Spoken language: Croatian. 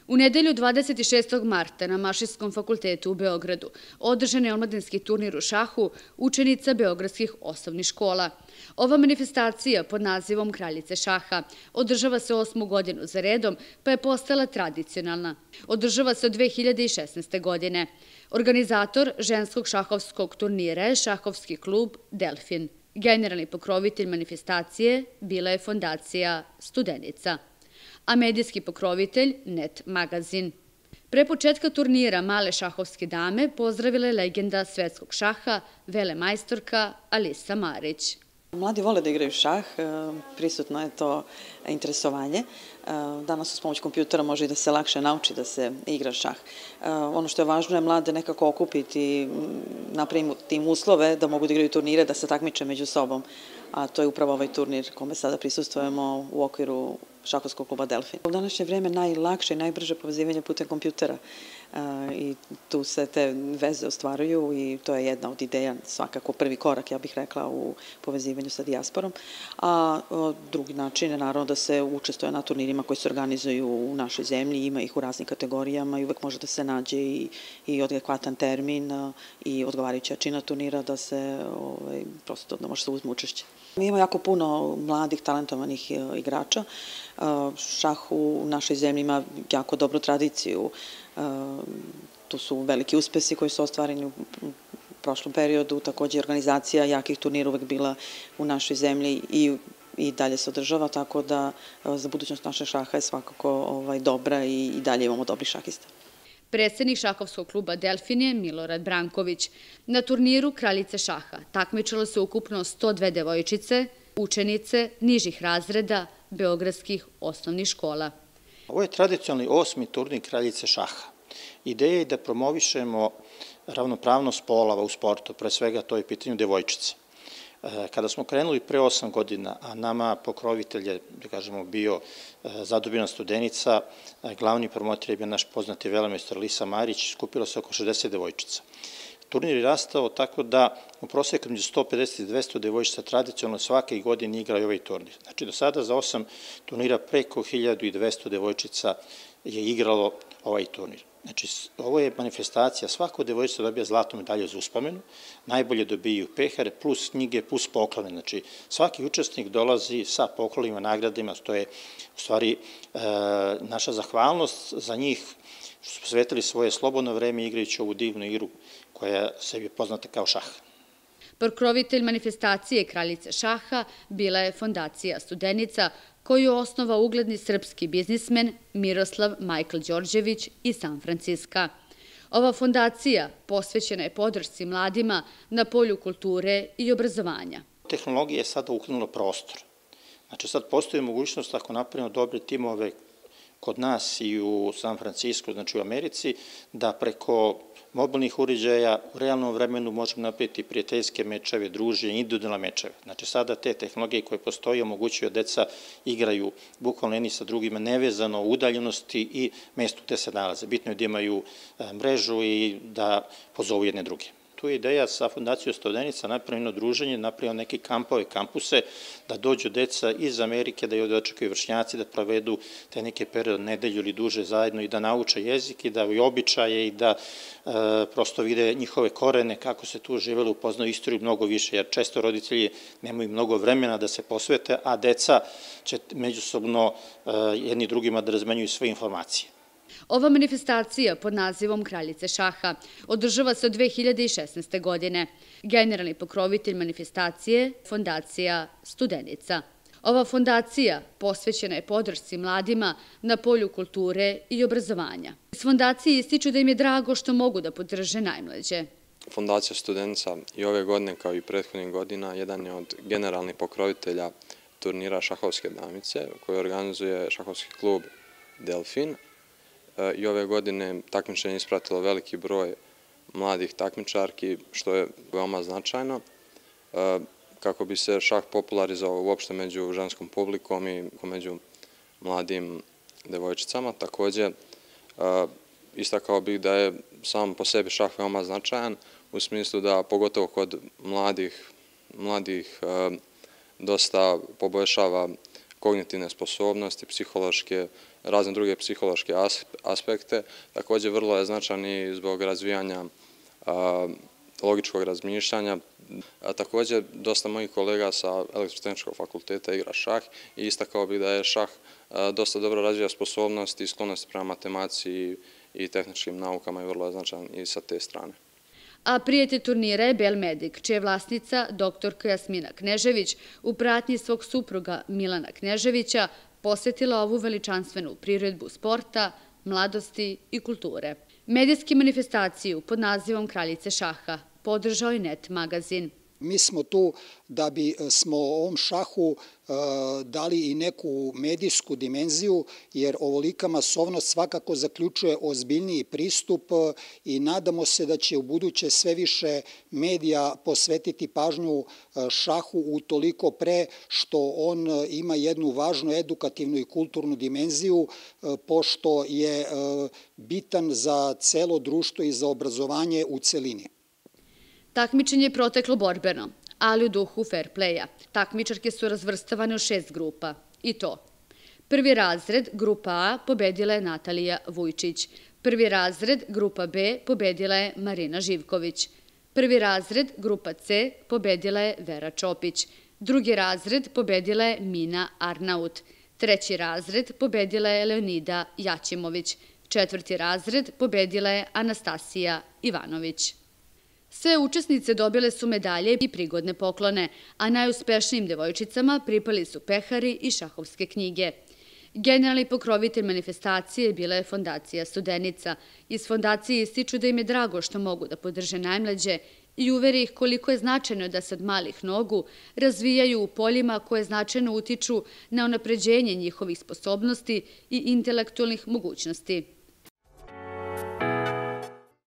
U nedelju 26. marta na Mašinskom fakultetu u Beogradu održan je omladinski turnir u šahu učenica beogradskih osnovnih škola. Ova manifestacija pod nazivom Kraljice šaha održava se 8. godinu za redom, pa je postala tradicionalna. Održava se od 2016. godine. Organizator ženskog šahovskog turnira je šahovski klub Delfin. Generalni pokrovitelj manifestacije bila je fondacija Studenica, a medijski pokrovitelj Net magazin. Pre početka turnira male šahovske dame pozdravila je legenda svetskog šaha, velemajstorka Alisa Marić. Mladi vole da igraju šah, prisutno je to interesovanje. Danas uz pomoć kompjutera može i da se lakše nauči da se igra šah. Ono što je važno je mlade nekako okupiti, napraviti tim uslove da mogu da igraju turnire, da se takmiče među sobom. A to je upravo ovaj turnir kome sada prisustvujemo u okviru šahovskog kluba Delfin. U današnje vreme najlakše i najbrže povezivanje putem kompjutera i tu se te veze ostvaruju i to je jedna od ideja, svakako prvi korak, ja bih rekla, u povezivanju sa dijasporom. A drugi način je naravno da se učestvuje na turnirima koji se organizuju u našoj zemlji, ima ih u raznim kategorijama i uvek može da se nađe i adekvatan termin i odgovarajuća jačina turnira da se prosto da može se uzme učešće. Mi imamo jako puno mladih, talentovanih igrača. Šah u našoj zemlji ima jako dobru tradiciju. Tu su veliki uspesi koji su ostvareni u prošlom periodu. Takođe, organizacija jakih turnira uvek bila u našoj zemlji i dalje se održava, tako da za budućnost našeg šaha je svakako dobra i dalje imamo dobrih šahista. Predsednik šahovskog kluba Delfin je Milorad Branković. Na turniru Kraljice šaha takmičilo se ukupno 102 devojčice, učenice nižih razreda beogradskih osnovnih škola. Ovo je tradicionalni 8. turnir Kraljice šaha. Ideja je da promovišemo ravnopravnost polova u sportu, pre svega to je pitanje devojčice. Kada smo krenuli pre 8 godina, a nama pokrovitelj je, da kažemo, bio Zadobina Studenica, glavni promotor je bio naš poznati velemajstor Alisa Marić, skupilo se oko 60 devojčica. Turnir je rastao tako da u proseku među 150 i 200 devojčica tradicionalno svake godine igraju ovaj turnir. Znači do sada za 8 turnira preko 1200 devojčica je igralo ovaj turnir. Znači, ovo je manifestacija, svako devojčica dobija zlatnu medalju za uspomenu, najbolje dobiju pehare, plus knjige, plus poklone. Znači, svaki učesnik dolazi sa poklonima, nagradima, to je u stvari naša zahvalnost za njih što su posvetili svoje slobodno vreme igrajući ovu divnu igru koja sebi je poznata kao šah. Pokrovitelj manifestacije Kraljice šaha bila je fondacija Studenica, koju osnova ugledni srpski biznismen Miroslav Majkl Đorđević iz San Franciska. Ova fondacija posvećena je podršci mladima na polju kulture i obrazovanja. Tehnologija je sada ukrenula prostor. Znači sad postoji mogućnost ako napravimo dobre timove kod nas i u San Francisku, znači u Americi, da preko mobilnih uređaja u realnom vremenu možemo napraviti prijateljske mečeve, druženje, individualne mečeve. Znači sada te tehnologije koje postoje omogućuju da deca igraju bukvalno jedni sa drugima nevezano u udaljenosti i mestu gde se nalaze. Bitno je da imaju mrežu i da pozovu jedne druge. Tu je ideja sa fondacijom Studenica napravljeno druženje, napravljeno neke kampove, kampuse, da dođu deca iz Amerike, da je dočekaju vršnjaci, da provedu te neke period, nedelju ili duže zajedno i da nauče jezik i da i običaje i da prosto vide njihove korene, kako se tu živelo, upoznaju istoriju mnogo više, jer često roditelji nemaju mnogo vremena da se posvete, a deca će međusobno jedni drugima da razmenjuju sve informacije. Ova manifestacija pod nazivom Kraljice šaha održava se od 2016. godine. Generalni pokrovitelj manifestacije – fondacija Studenica. Ova fondacija posvećena je podršci mladima na polju kulture i obrazovanja. Iz fondacije ističu da im je drago što mogu da podrže najmlađe. Fondacija Studenica i ove godine kao i prethodnih godina jedan je od generalnih pokrovitelja turnira šahovske damice koje organizuje šahovski klub Delfin. I ove godine takmičenje ispratilo veliki broj mladih takmičarki, što je veoma značajno, kako bi se šah popularizovao uopšte među ženskom publikom i među mladim devojčicama. Takođe, istakao bih da je sam po sebi šah veoma značajan, u smislu da pogotovo kod mladih dosta poboljšava kognitivne sposobnosti, psihološke, razne druge psihološke aspekte. Također vrlo je značajan i zbog razvijanja logičkog razmišljanja. Također, dosta mojih kolega sa Elektrotehničkog fakulteta igra šah i istakao bih da je šah dosta dobro razvija sposobnosti i sklonosti prema matematici i tehničkim naukama i vrlo je značajan i sa te strane. A prijatelj turnira je Belmedik, čija je vlasnica doktorka Jasmina Knežević u pratnji svog supruga Milana Kneževića posvetila ovu veličanstvenu priredbu sporta, mladosti i kulture. Medijski manifestaciju pod nazivom Kraljice šaha podržao i Net magazin. Mi smo tu da bi smo ovom šahu dali i neku medijsku dimenziju, jer ovolika masovnost svakako zaključuje ozbiljniji pristup i nadamo se da će u buduće sve više medija posvetiti pažnju šahu utoliko pre što on ima jednu važnu edukativnu i kulturnu dimenziju, pošto je bitan za celo društvo i za obrazovanje u celini. Takmičenje je proteklo borbeno, ali u duhu fair playa. Takmičarke su razvrstavane u 6 grupa. I to: prvi razred, grupa A, pobedila je Natalija Vujčić. Prvi razred, grupa B, pobedila je Marina Živković. Prvi razred, grupa C, pobedila je Vera Čopić. Drugi razred, pobedila je Mina Arnaut. Treći razred, pobedila je Leonida Jaćimović. Četvrti razred, pobedila je Anastasija Ivanović. Sve učesnice dobile su medalje i prigodne poklone, a najuspešnijim devojčicama pripali su pehari i šahovske knjige. Generalni pokrovitelj manifestacije bila je Fondacija Studenica. Iz fondacije ističu da im je drago što mogu da podrže najmlađe i uveri ih koliko je značajno da se od malih nogu razvijaju u poljima koje značajno utiču na unapređenje njihovih sposobnosti i intelektualnih mogućnosti.